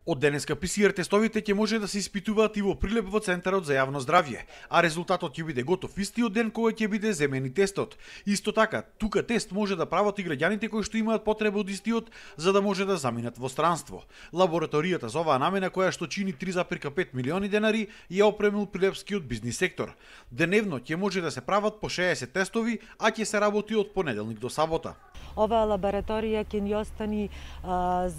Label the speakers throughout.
Speaker 1: Од денеска ПСР тестовите ќе може да се испитуваат и во Прилеп во Центарот за јавно здравје, а резултатот ќе биде готов истиот ден кога ќе биде земен и тестот. Исто така, тука тест може да прават и граѓаните кои што имаат потреба од истиот за да може да заминат во странство. Лабораторијата за оваа намена, која што чини 3,5 милиони денари, ја опремил прилепскиот бизнис сектор. Деневно ќе може да се прават по 60 тестови, а ќе се работи од понеделник до сабота.
Speaker 2: Оваа лабораторија ќе ни остани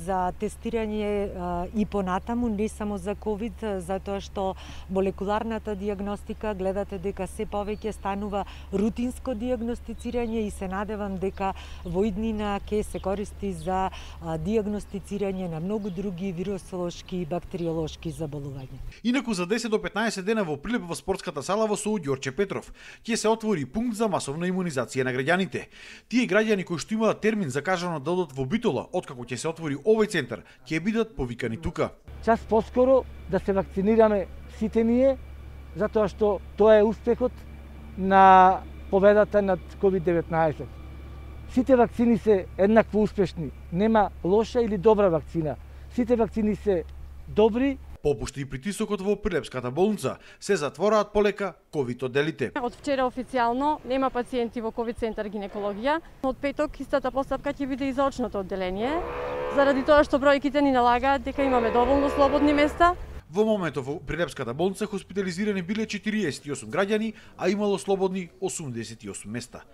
Speaker 2: за тестирање и понатаму, не само за ковид, затоа што молекуларната диагностика гледате дека се повеќе станува рутинско диагностицирање и се надевам дека во иднина ќе се користи за диагностицирање на многу други вирусолошки и бактериолошки заболувања.
Speaker 1: Инаку за 10 до 15 дена во Прилеп во спортската сала во СОУ Ѓорче Петров ќе се отвори пункт за масовна имунизација на граѓаните. Тие граѓани кои што имаат термин закажано да одат во Битола, откако ќе се отвори овој центар, ќе бидат повикани тука.
Speaker 3: Час поскоро да се вакцинираме сите ние, затоа што тоа е успехот на победата над COVID-19. Сите вакцини се еднакво успешни. Нема лоша или добра вакцина. Сите вакцини се добри.
Speaker 1: Попушти и притисокот во Прилепската болница, се затвораат полека ковид одделите.
Speaker 4: Од вчера официјално нема пациенти во ковид центар гинекологија. Од петок истата постапка ќе биде и за очното одделение, заради тоа што бројките ни налагаат дека имаме доволно слободни места.
Speaker 1: Во моментов во Прилепската болница хоспитализирани биле 48 граѓани, а имало слободни 88 места.